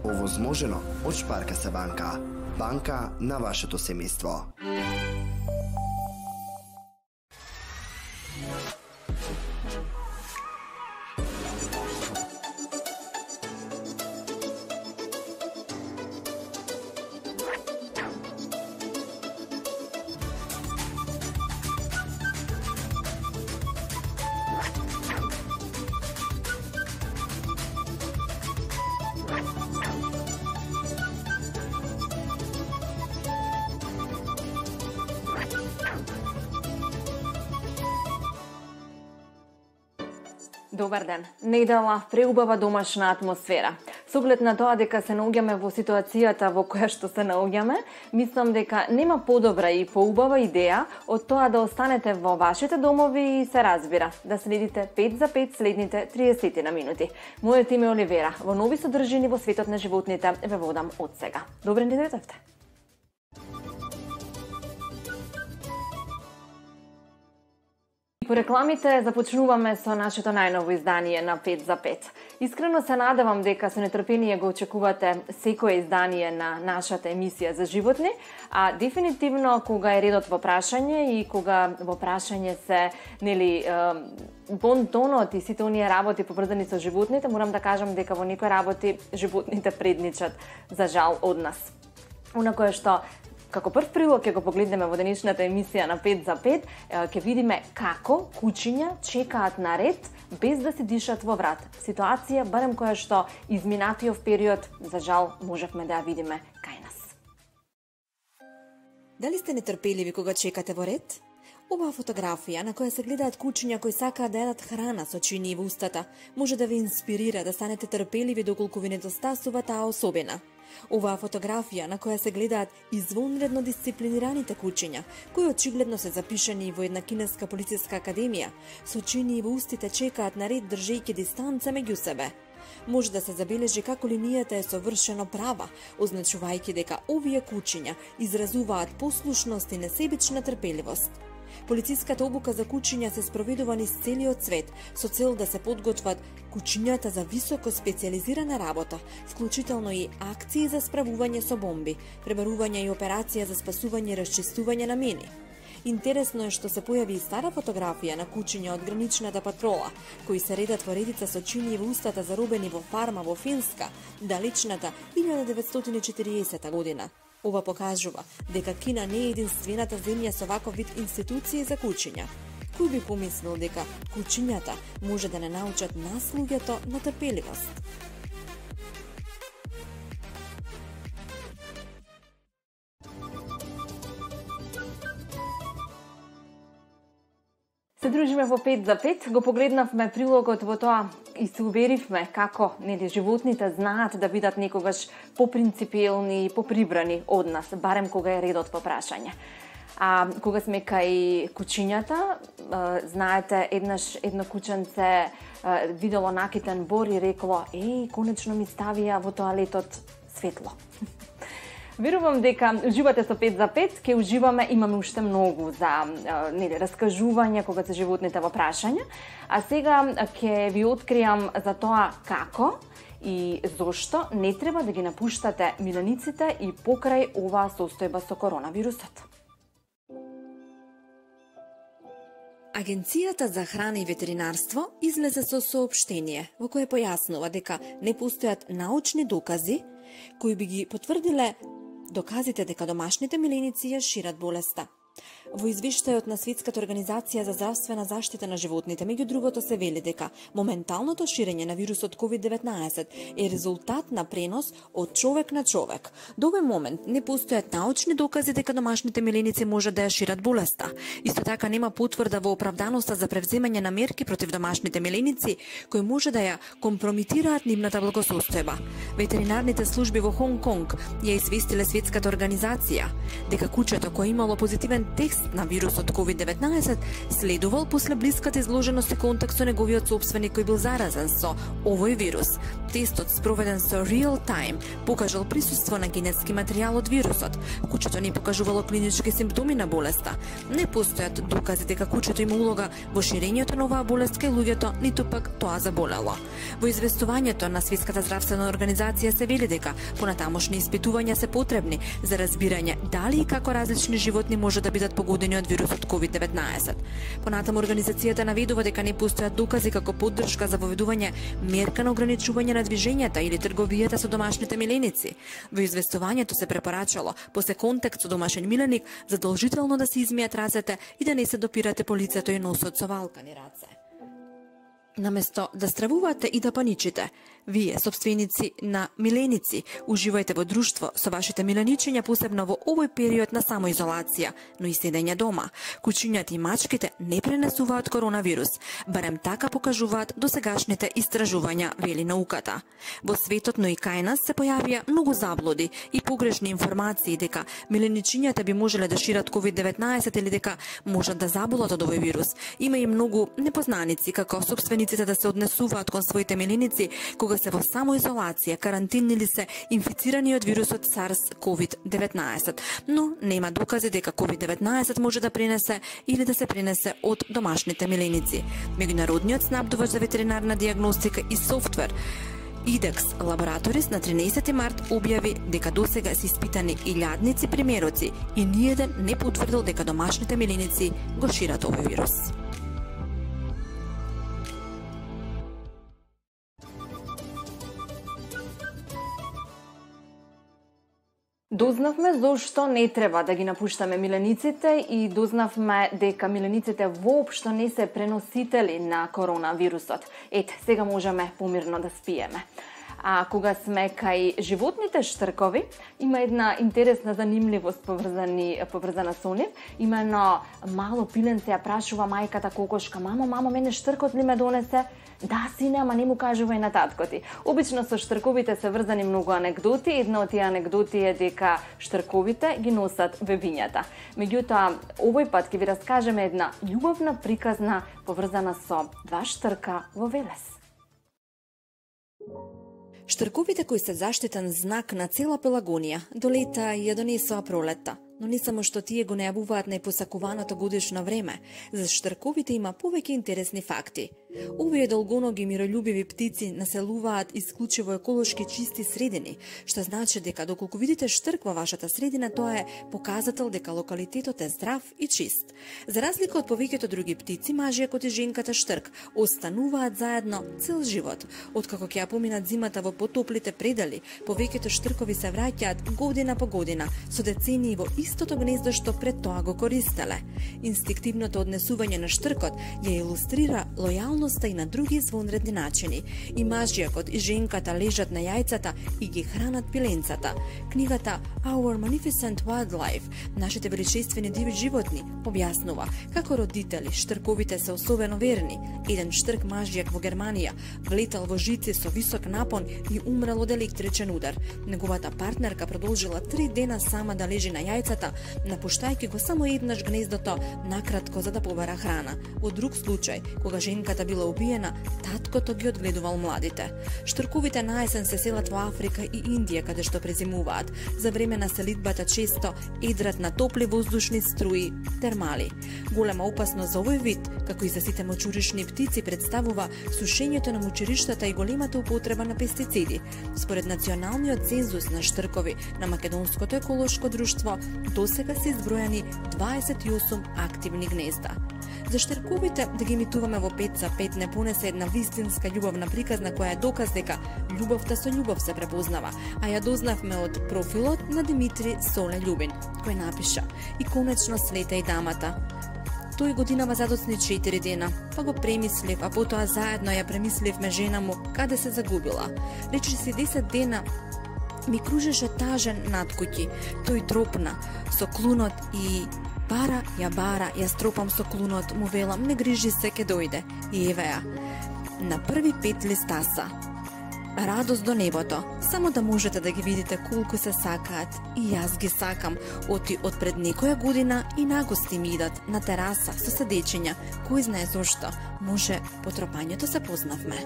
Овозможено од Шпаркаса банка. Банка на вашето семејство. Добар ден. Недела преубава домашна атмосфера. Со оглед на тоа дека се наоѓаме во ситуацијата во која што се наоѓаме, мислам дека нема подобра и поубава идеја од тоа да останете во вашите домови и се разбира, да следите 5 за 5 следните 30 на минути. Мојот име е Оливера. Во нови содржини во светот на животните ве водам од сега. Добре ни дојдовте. По рекламите започнуваме со нашето најново издание на 5 за 5. Искрено се надевам дека со нетрпение го очекувате секое издание на нашата емисија за животни, а дефинитивно кога е редот во прашање и кога во прашање се бонтонот и сите оние работи поврзани со животните, морам да кажам дека во некои работи животните предничат за жал од нас. Она кое што како прв прилог ќе го погледнеме во денешната емисија на 5 за 5, ќе видиме како кучиња чекаат на ред без да се дишат во врат. Ситуација, барем која што изминатиот период, за жал, можевме да ја видиме кај нас. Дали сте нетрпеливи кога чекате во ред? Оваа фотографија на која се гледаат кучиња кои сакаат да јадат храна со чини во устата, може да ве инспирира да станете трпеливи доколку ви недостасува таа особина. Оваа фотографија на која се гледаат извонредно дисциплинираните кучиња, кои очигледно се запишани во една кинеска полициска академија, со чини во устите чекаат на ред држејќи дистанца меѓу себе. Може да се забележи како линијата е совршено права, означувајќи дека овие кучиња изразуваат послушност и несебична трпеливост. Полициската обука за кучиња се спроведува низ целиот свет со цел да се подготват кучињата за високо специјализирана работа, вклучително и акции за справување со бомби, пребарување и операција за спасување и расчистување на мини. Интересно е што се појави и стара фотографија на кучиња од граничната патрола, кои се редат во редица со чини во устата заробени во фарма во Финска, далечната 1940 година. Ова покажува дека Кина не е единствената земја со ваков вид институции за кучиња. Кој би помислил дека кучињата може да не научат нас луѓето на трпеливост? Се дружиме во 5 за 5, го погледнавме прилогот во тоа и се уверивме како животните знаат да бидат некогаш попринципиелни и поприбрани од нас, барем кога е редот по прашање. А кога сме кај кучињата, знаете, едно кученце видело накитен бор и рекло: "Еј, конечно ми ставија во тоалетот светло." Верувам дека уживате со 5 за 5, ќе уживаме, имаме уште многу за раскажување кога се животните во прашање, а сега ќе ви откријам за тоа како и зошто не треба да ги напуштате милениците и покрај оваа состојба со коронавирусот. Агенцијата за храна и ветеринарство излезе со соопштение во кое појаснува дека не постојат научни докази кои би ги потврдиле доказите дека домашните миленици ја шират болеста. Во извештајот на Светската организација за здравствена заштита на животните, меѓу другото се вели дека моменталното ширење на вирусот COVID-19 е резултат на пренос од човек на човек. До овој момент не постојат научни докази дека домашните миленици можат да ја шират болеста. Исто така нема потврда во оправданоста за превземање на мерки против домашните миленици кои може да ја компромитираат нивната благосостојба. Ветеринарните служби во Хонг Конг ја известиле Светската организација дека кучето кое имало позитивен тест на вирусот COVID-19 следувал после блиската изложеност и контакт со неговиот сопственик кој бил заразен со овој вирус. Тестот спроведен со real time покажал присуство на генетски материјал од вирусот. Кучето не покажувало клинички симптоми на болеста. Не постојат докази дека кучето има улога во ширењето на оваа болест кај луѓето, ниту пак тоа заболело. Во известувањето на Светската здравствена организација се вели дека понатамошни испитувања се потребни за разбирање дали и како различни животни може да бидат погодени од вирусот COVID-19. Понатаму организацијата наведува дека не постојат докази како поддршка за воведување мерка на ограничување на движењата или трговијата со домашните миленици. Во известувањето се препорачало после контакт со домашен миленик задолжително да се измијат рацете и да не се допирате по лицето и носот со валкани раце. Наместо да стравувате и да паничите, вие, собственици на миленици, уживајте во друштво со вашите миленичиња, посебно во овој период на самоизолација, но и седење дома. Кучињата и мачките не пренесуваат коронавирус, барем така покажуваат досегашните истражувања, вели науката. Во светот, но и кај нас се појавија многу заблуди и погрешни информации дека миленичињата би можеле да шират COVID-19 или дека можат да заболат од овој вирус. Има и многу непознаници како собствениците да се однесуваат кон своите миленици кога се во самоизолација, карантин или се инфицирани од вирусот SARS-CoV-19, но нема докази дека COVID-19 може да пренесе или да се пренесе од домашните миленици. Меѓународниот снабдувач за ветеринарна дијагностика и софтвер IDEXX Laboratories на 13 март објави дека досега се испитани илјадници примероци и ниеден не потврдил дека домашните миленици го шират овој вирус. Дознавме зошто не треба да ги напуштаме милениците и дознавме дека милениците воопшто не се преносители на коронавирусот. Сега можеме помирно да спиеме. А кога сме кај животните штркови, има една интересна занимливост поврзана со нив. Имено мало пиленце ја прашува мајката кокошка: мамо, мене штркот ли ме донесе? Да, сине, ама не му кажувај на татко ти. Обично со штрковите се врзани многу анегдоти. Една од тие анегдоти е дека штрковите ги носат бебињата. Меѓутоа, овој пат ќе ви раскажеме една љубовна приказна поврзана со два штрка во Велес. Штрковите кои се заштитен знак на цела Пелагонија до лета ја донесоа пролетта, но не само што тие го најавуваат најпосакуваното годишно време, за штрковите има повеќе интересни факти. Овие долгоноги миролюбиви птици населуваат исклучиво еколошки чисти средини, што значи дека доколку видите штрк во вашата средина, тоа е показател дека локалитетот е здрав и чист. За разлика од повеќето други птици, мажијакот и женката штрк остануваат заедно цел живот. Откако ќе ја поминат зимата во потоплите предели, повеќето штркови се враќаат година по година со децении во истото гнездо што пред тоа го користеле. Инстинктивното однесување на штркот ја илустрира лојалноста и на други звонредни начини. И мажијакот и женката лежат на јајцата и ги хранат пиленцата. Книгата Our Magnificent Wildlife, нашите величествени диви животни, објаснува како родители штрковите се особено верни. Еден штрк мажијак во Германија влетал во жици со висок напон и умрел од електричен удар. Неговата партнерка продолжила 3 дена сама да лежи на јајцата, напуштајќи го само еднаш гнездото накратко за да побара храна. Во друг случај, кога женката била убиена, таткото ги одгледувал младите. Штрковите наесен се селат во Африка и Индија, каде што презимуваат. За време на селидбата често едрат на топли воздушни струи, термали. Голема опасност за овој вид, како и за сите мочуришни птици, представува сушењето на мочуриштата и големата употреба на пестициди. Според националниот цензус на штркови на Македонското еколошко друштво, досега се избројани 28 активни гнезда. За штрковите да ги имитуваме во 5 за 5 не понесе една вистинска љубовна приказна која е доказ дека љубовта со љубов се препознава, а ја дознавме од профилот на Димитри Соле Љубин, кој напиша: и конечно слета и дамата. Тој годинава задоцни 4 дена, па го премислив, а потоа заедно ја премисливме жена му каде се загубила. Речиси 10 дена ми кружеше тажен над куќи, тој тропна со клунот и бара, ја стропам со клунот, му велам, не грижи се, ке дојде. И еве ја, на први 5 листаса. радост до небото, само да можете да ги видите колку се сакаат. И јас ги сакам, оти од пред некоја година и нагости ми идат на тераса со седечења, кој знае зошто, може по тропањето се познавме.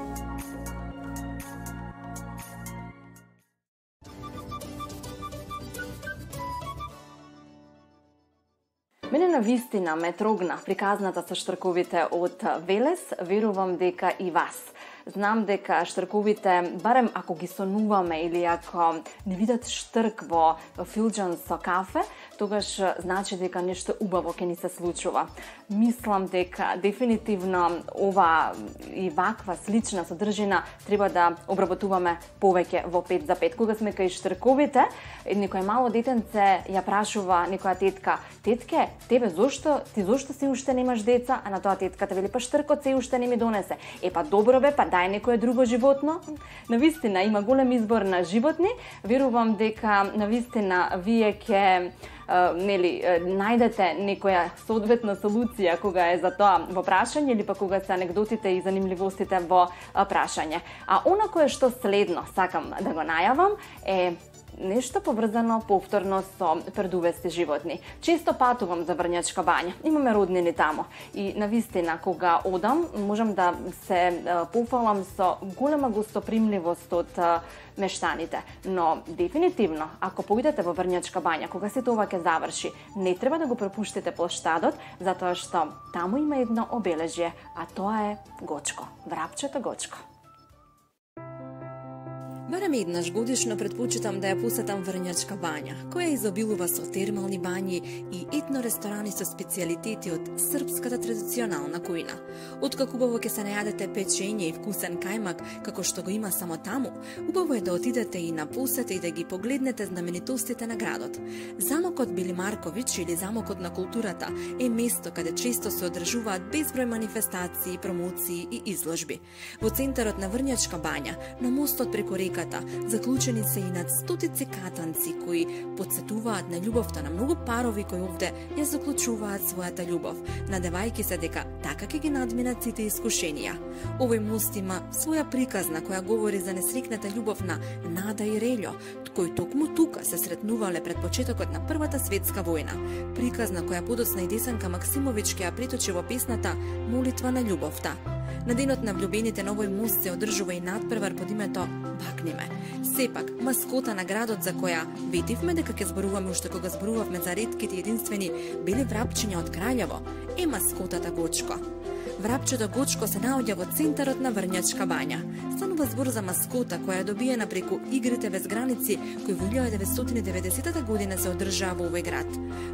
Мене на вистина ме трогна приказната со штрковите од Велес, верувам дека и вас. Знам дека штрковите, барем ако ги сонуваме или ако не видат штрк во филџан со кафе, тогаш значи дека нешто убаво ќе ни се случува. Мислам дека дефинитивно ова и ваква слична содржина треба да обработуваме повеќе во 5 за 5. Кога сме кај штрковите, некој мало детенце ја прашува некоја тетка: "Тетке, тебе зошто си уште немаш деца?" А на тоа тетката вели: "Па штркот се уште не ми донесе." Па добро бе, па дај некое друго животно. Навистина има голем избор на животни. Верувам дека навистина вие ќе најдете некоја соодветна солуција кога е за тоа во прашање или па кога се анегдотите и занимливостите во прашање. А она кое што следно сакам да го најавам е нешто поврзано повторно со предувести животни. Често патувам за Врњачка бања. Имаме роднини тамо. И навистина, кога одам, можам да се пофалам со голема гостопримливост од мештаните. Но дефинитивно, ако поидете во Врњачка бања, кога се тоа ќе заврши, не треба да го пропуштите плоштадот, затоа што таму има едно обележје, а тоа е Гочко, врапчето Гочко. Барем еднаш годишно предпочитам да ја посетам Врњачка бања, која изобилува со термални бањи и етно ресторани со специјалитети од српската традиционална кујна. Откако убаво ќе се најадете печење и вкусен кајмак, како што го има само таму, убаво е да отидете и на посета и да ги погледнете знаменитостите на градот. Замокот Били Марковиќ или Замокот на културата е место каде често се одржуваат безброј манифестации, промоции и изложби. Во центарот на Врњачка бања, на мостот преку река заклучени се и над стотици катанци кои подсетуваат на љубовта на многу парови кои овде ја заклучуваат својата љубов, надевајќи се дека така ќе ги надминат сите искушенија. Овој мост има своја приказна која говори за несрекната љубов на Нада и Релјо, кои токму тука се сретнувале пред почетокот на Првата светска војна. Приказна која подоцна и Десанка Максимовиќ ќе ја преточи во песната Молитва на љубовта. На денот на влюбените на овој мост се одржува и надпревар под името Бакниме. Сепак, маскота на градот за која ветивме дека ќе зборуваме уште кога зборувавме за ретките единствени бели врапчиња од Краљево, е маскотата Гочко. Врапчето Гочко се наоѓа во центарот на Врњачка бања. Станува збор за маскота која е добиена преку игрите без граници кои во 1990 година се одржаа во овој град.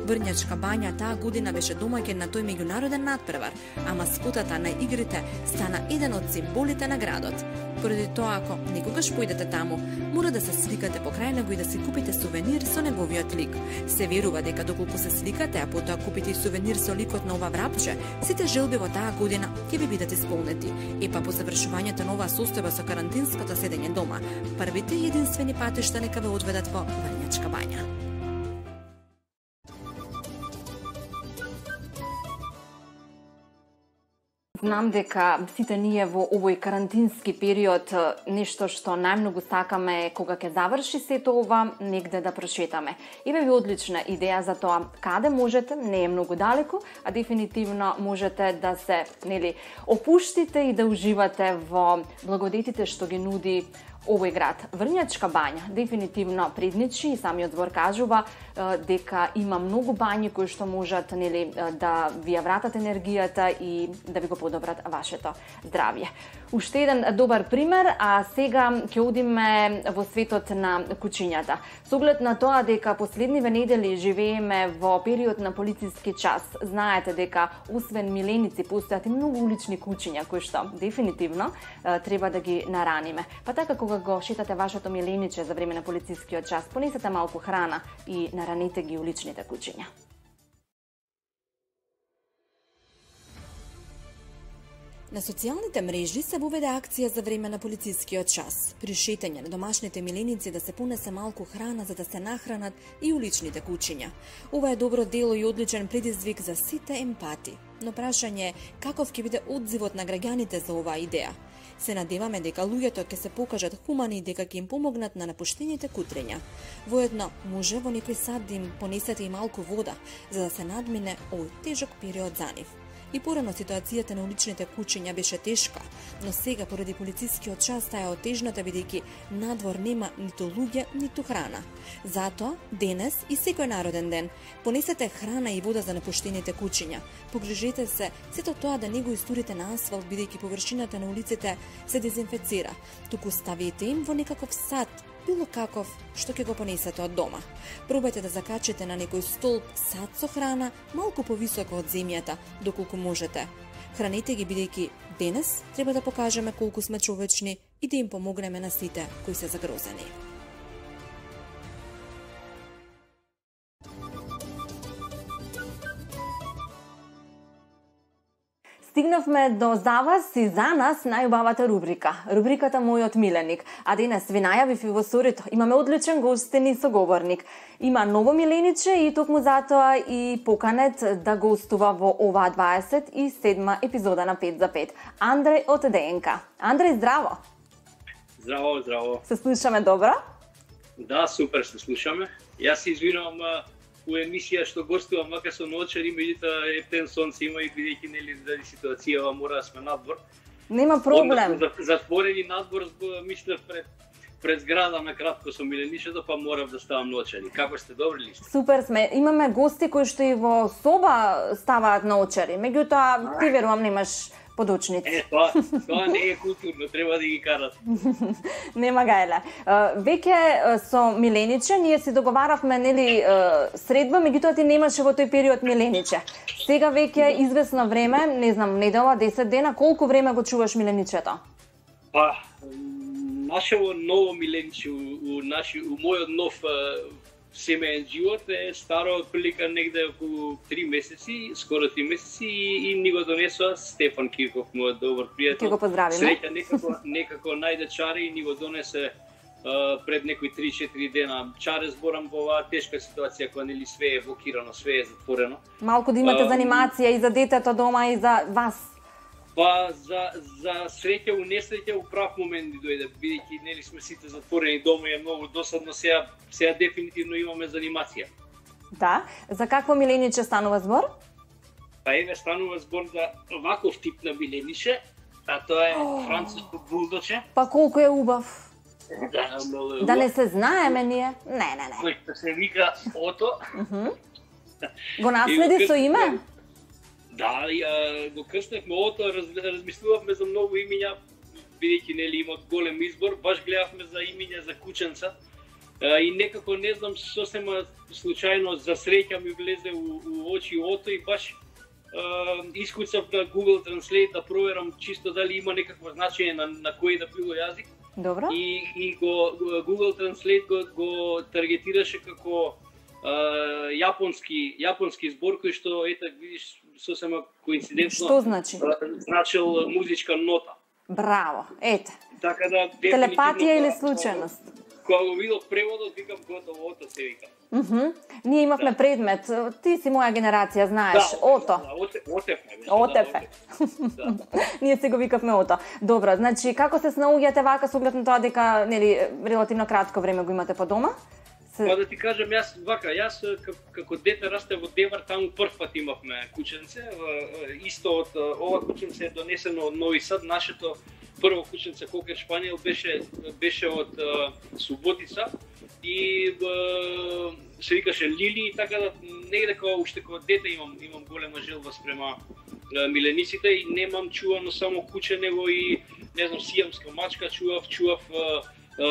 Врњачка бања таа година беше домаќин на тој меѓународен надпревар, а маскотата на игрите стана еден од символите на градот. Поради тоа, ако некогаш поидете таму, мора да се сликате покрај него и да си купите сувенир со неговиот лик. Се верува дека доколку се сликате, а потоа купите и сувенир со ликот на ова врапче, сите желби во таа година ќе ви бидат исполнети. Епа по завршувањето на оваа состојба со карантинското седење дома, првите и единствени патишта нека ве одведат во Врњачка бања. Знам дека сите ние во овој карантински период нешто што најмногу сакаме е кога ќе заврши сето ова, негде да прошетаме. Еве ви одлична идеја за тоа каде можете, не е многу далеку, а дефинитивно можете да се, опуштите и да уживате во благодетите што ги нуди овој град. Врњачка бања дефинитивно предничи и самиот збор кажува дека има многу бањи кои што можат да ви ја вратат енергијата и да ви го подобрат вашето здравје. Уште еден добар пример, а сега ќе одиме во светот на кучињата. Со оглед на тоа дека последниве недели живееме во период на полициски час, знаете дека освен миленици постојат и многу улични кучиња кои што дефинитивно треба да ги нараниме. Па така кога го шетате вашето милениче за време на полицискиот час, понесете малку храна и наранете ги уличните кучиња. На социјалните мрежи се воведе акција за време на полицискиот час. При шетање на домашните миленици да се понесе малку храна за да се нахранат и уличните кучиња. Ова е добро дело и одличен предизвик за сите емпати. Но прашање е каков ќе биде одзивот на граѓаните за оваа идеја. Се надеваме дека луѓето ќе се покажат хумани и дека ќе им помогнат на напуштените кутрења. Воедно, може во некој сад да им понесете и малку вода, за да се надмине овој тежок период за нив. И порано ситуацијата на уличните кучиња беше тешка, но сега поради полицискиот час таа е отежната бидејќи надвор нема ниту луѓе, ниту храна. Затоа, денес и секој народен ден, понесете храна и вода за напуштените кучиња. Погрижете се сето тоа да не го истурите на асфалт бидејќи површината на улиците се дезинфецира, туку ставете им во некаков сад, било каков што ќе го понесете од дома. Пробајте да закачите на некој столб сад со храна малку повисоко од земјата, доколку можете. Храните ги бидејќи денес треба да покажеме колку сме човечни и да им помогнеме на сите кои се загрозени. Стигнавме до за вас и за нас најубавата рубрика, рубриката Мојот миленик. А денес ви најавив и во сторито, имаме одличен гостин и соговорник. Има ново милениче и токму затоа и поканет да гостува во оваа 27 епизода на 5 за 5. Андреј од ДНК. Андреј, здраво! Здраво, здраво. Се слушаме добро? Да, супер се слушаме. Јас се извинувам у емисија што гостувам вака со ноќари, меѓутоа ептен сонце има и бидејќи нели заради ситуацијава мора да сме надвор. Нема проблем. Затворени надвор, мислев пред зграда на кратко со миленичето, па морав да ставам ноќари. Како сте, добри ли сте? Супер сме. Имаме гости кои што и во соба ставаат ноќари. Меѓутоа ти верувам немаш подочници. Тоа не е културно, треба да ги карат. Нема гајле. Веќе со милениче ние си договаравме нели средба, меѓутоа ти немаше во тој период милениче. Сега веќе известно време, не знам, недела, 10 дена, колку време го чуваш миленичето? Па, нашето ново милениче, у мојот нов семеен живот е старо отприлика негде околу 3 месеци, скоро 3 месеци и ни го донесува Стефан Кирков, мојот добар пријател. Ќе го поздравиме. Среќа некако најде чаре и ни го донесе пред некои 3-4 дена. Чаре зборам во оваа тешка ситуација кога нели све е блокирано, све е затворено. Малку да имате занимација и за детето дома и за вас. Па за среќа у несреќа у прав момент ни дојде, бидејќи нели сме сите затворени дома и е многу досадно, сега дефинитивно имаме занимација. Да, за какво милениче станува збор? Па еве станува збор за ваков тип на милениче, а тоа е француско булдоче. Па колку е убав. Да, многу е убав. Да не се знаеме ние? Не. Кој се вика Ото. Го наследи со име? Да, го крстевме Ото, размислувавме за многу имиња, бидејќи нели има голем избор, баш гледавме за имиња за кученца. И некако не знам сосема случајно за среќа ми влезе у очи Ото и баш искуцав на Google Translate да проверам чисто дали има некакво значење на кој да било јазик. Добро. И Google Translate го таргетираше како јапонски збор кој што ета видиш сосема коинцидентно. Што значи? Значил музичка нота. Браво. Ете. Така да телепатија или случајност? Кога го видов преводот, викам готово, Ото се вика. Ние имавме предмет, ти си моја генерација, знаеш, Ото. Отефе. Ние се го викавме Ото. Добро, значи како се снаоѓате вака со оглед на тоа дека нели релативно кратко време го имате по дома? Па да ти кажам, јас како дете растев во Девар, таму прв пат имавме кученце, исто од ова кученце е донесено од Нови Сад, нашето прво кученце Кокер Шпаниел беше од Суботица и се викаше Лили, така да негде уште кога дете имам голема желба спрема милениците и немам чувано само куче, него и не знам сијамска мачка чував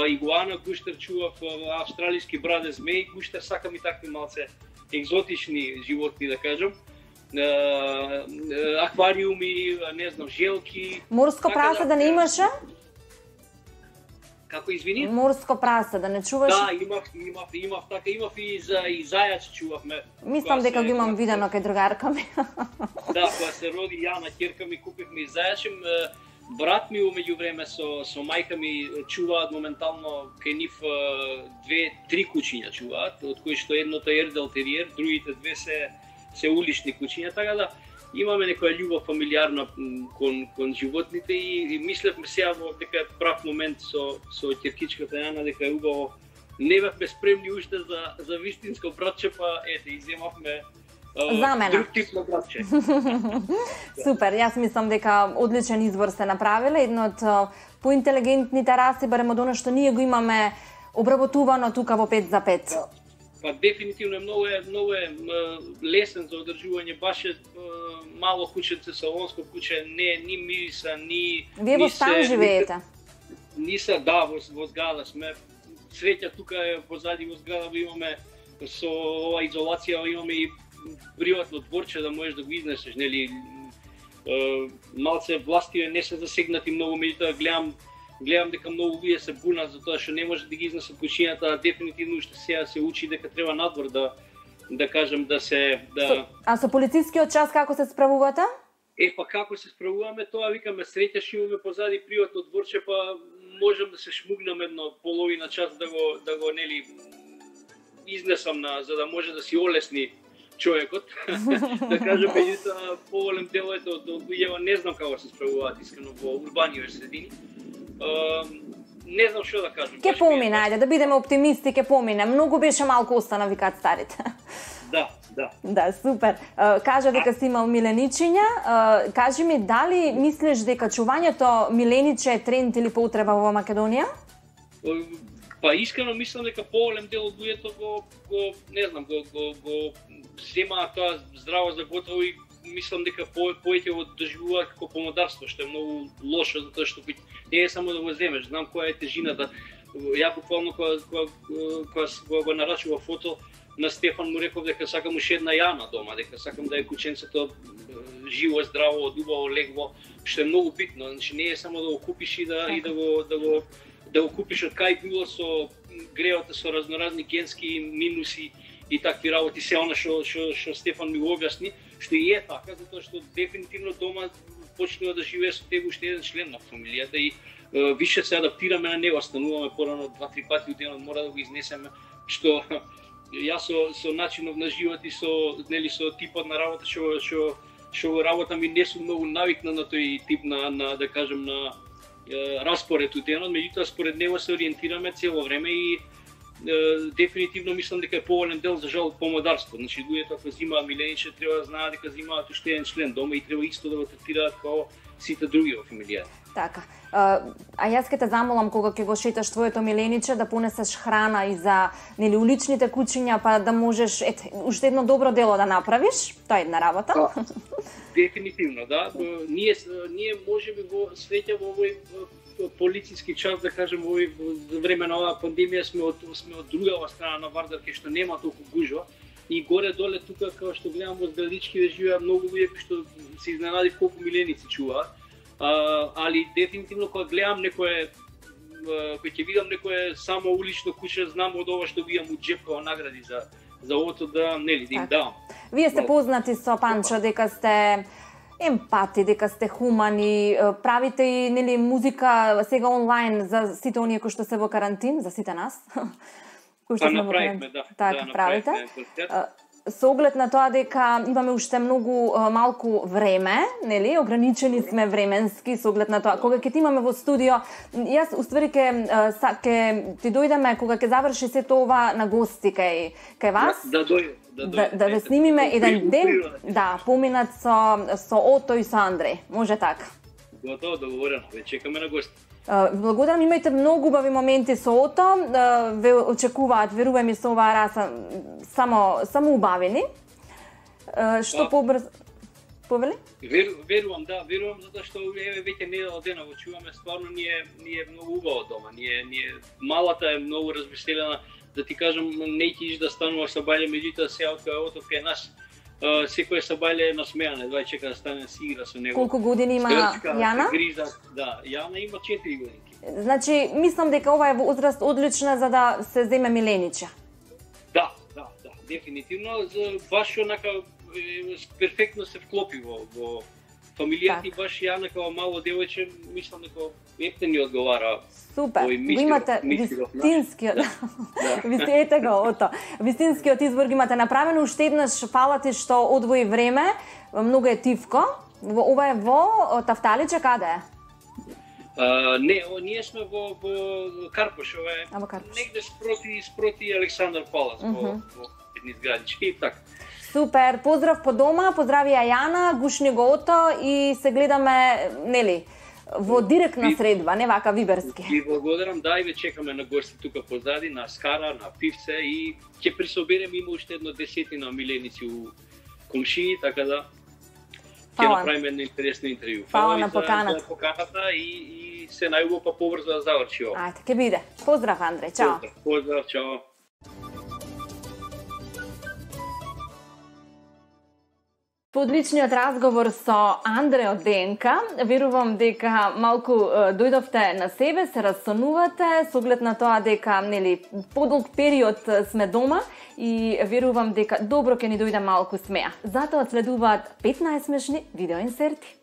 игуана гуштер чував, австралиски браде змеј гуштер, сакам и такви малце екзотични животни да кажам. Аквариуми, не знам, желки. Морско прасе да не имаше? Како извини? Морско прасе да не чуваш? Да, имав така, имав и зајач чувавме. Мислам дека го имам видено кај другарка ми. Да, кога се роди Јана, ќерка ми, купивме и зајачем. Брат ми умеѓу време со мајка ми чуваат моментално кај нив 2-3 кучиња чуваат, од кои што едното е ердел териер, другите две се улични кучиња, така да имаме некоја љубов фамилиарна кон животните и мислевме сега дека е прав момент со ќеркичката Јана дека е убаво. Не бевме спремни уште за вистинско братче, па ете иземавме друг тип на братче. Супер, јас мислам дека одличен избор сте направиле, едно од поинтелигентните раси, барем од она што ние го имаме обработувано тука во 5 за 5. Да. Па дефинитивно многу е лесен за одржување, баш е мало кученце, салонско куче, не ни мириса, ни Вие во стан живеете? Ниса, да, во зграда сме. Среќа тука е позади во зграда имаме со ова изолација, имаме и приватно дворче да можеш да го изнесеш, нели? Малце власти не се засегнати многу, меѓутоа гледам дека многу луѓе се бунат за тоа што не може да ги изнесат кучињата, дефинитивно уште сега се учи дека треба надвор да кажем да се А со полицискиот час како се справувате? Па како се справуваме, тоа викаме среќаш имаме позади приватно дворче, па можам да се шмугнам едно половина час да го нели изнесам за да може да си олесни човекот. Да кажем, меѓутоа поголем дел од луѓето не знам како се справуваат искрено во урбани средини. Не знам што да кажам. Ке помине, ајде да бидеме оптимисти, ке помине. Многу беше малку остана, викаат старите. Да. Да, супер. Кажа дека си имал миленичиња. Кажи ми, дали мислиш дека чувањето милениче е тренд или поутреба во Македонија? Па искрено мислам дека поголем дел од луѓето го не знам, го земаат тоа здраво за готово и мислам дека повеќе го доживуваат како помодарство, што е многу лошо, затоа што не е само да го земеш, знам која е тежината. Ја буквално кога го нарачува фото на Стефан му реков дека сакам уште една Јана дома, дека сакам да е кученцето живо, здраво, убаво легло, што е многу битно. Значи не е само да го купиш и да го купиш од кај било со гревата со разноразни генски минуси и такви работи, се она што Стефан ми го објасни, што и е така, затоа што дефинитивно дома почнува да живее со тебе уште еден член на фамилијата и више се адаптираме на него, стануваме порано 2-3 пати у денот, мора да го изнесеме, што јас со начинот на живот и со типот на работа што работа ми не сум многу навикна на тој тип на да кажем на распоред у денот, меѓутоа според него се ориентираме цело време и дефинитивно мислам дека е поголем дел за жал помодарство. Значи луѓето ако земаат милениче треба да знаат дека земаат уште еден член дома и треба исто да го третираат како сите други во фамилијата. Така. А јас ке те замолам кога ќе го шеташ твоето милениче да понесеш храна и за нели уличните кучиња, па да можеш уште едно добро дело да направиш. Тоа е една работа. Дефинитивно, да. Ние можеби во среќа во овој полициски час, да кажем, во време на оваа пандемија сме од другава страна на Вардар, кај што нема толку гужва. И горе-доле тука, како што гледам во Зградички, да живеат многу луѓе кои што се изненадив колку миленици чуваат. Али дефинитивно кога гледам некое, кога ќе видам некое само улично куче, знам од ова што видам у џеп како награди за овото да нели да им давам. Вие сте познати со Панчо дека сте емпати, дека сте хумани, правите и нели музика сега онлайн за сите оние кои што се во карантин, за сите нас. Кои што сме во карантин. Така правите. Со оглед на тоа дека имаме уште многу малку време, нели, ограничени сме временски со оглед на тоа. Кога ќе ти имаме во студио, јас уствари ќе ти дојдеме кога ќе заврши сето ова на гости кај вас. Да ве снимиме еден ден, да, поминат со Ото и со Андреј. Може така? Готово, договорено. Ве чекаме на гости. Благодарам, имајте многу убави моменти со Ото, ве очекуваат, верувам и со оваа раса, само убавени. Што побрзо... Повели? Верувам, затоа што веќе недела дена го чуваме, стварно ние многу убаво дома, ние малата е многу развеселена, да ти кажам, не ќе да станува сабајле, меѓутоа сега од Ото кај нас, секој сабајле е насмејан, едва чека да стане си игра со него. Колку години има Јана? Да, Јана има 4 години. Значи, мислам дека ова е возраст одлична за да се земе милениче. Да, дефинитивно, баш онака перфектно се вклопи во фамилијата и баш ја некако мало девојче, мислам дека ефтини одговара. Супер. Го имате вистинскиот. Ете го, ото. Вистинскиот избор ги имате направено. Уште еднаш фала ти што одвои време. Многу е тивко. Ова е во Тафталиче, каде е? Не, ние сме во Карпош, ова е негде спроти Александар Палац, во едни зградички и така. Супер, поздрав по дома, поздрави ја Јана, гушни го ото и се гледаме, нели, во директна средба, не вака виберски. Ви благодарам, да, и ве чекаме на гости тука позади, на Скара, на пивце и ќе присоберем, има уште едно 10 миленици у комшии, така да ќе направиме едно интересно интервју. Фала на поканата. За поканата и се најубаво па побрзо да заврши ова. Ајде, ќе биде. Поздрав, Андреј, чао. Поздрав, чао. По одличниот разговор со Андреј од ДНК, верувам дека малку дојдовте на себе, се рассонувате, со оглед на тоа дека, нели, подолг период сме дома и верувам дека добро ќе ни дојде малку смеа. Затоа следуваат 15 смешни видеоинсерти.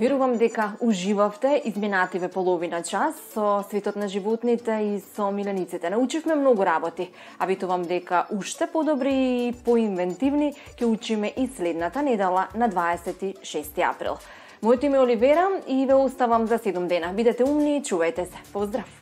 Верувам дека уживавте изминативе половина час со светот на животните и со милениците. Научивме многу работи, а ветувам дека уште подобри и поинвентивни ќе учиме и следната недела на 26 април. Моето име е Оливера и ве оставам за 7 дена. Бидете умни и чувајте се. Поздрав!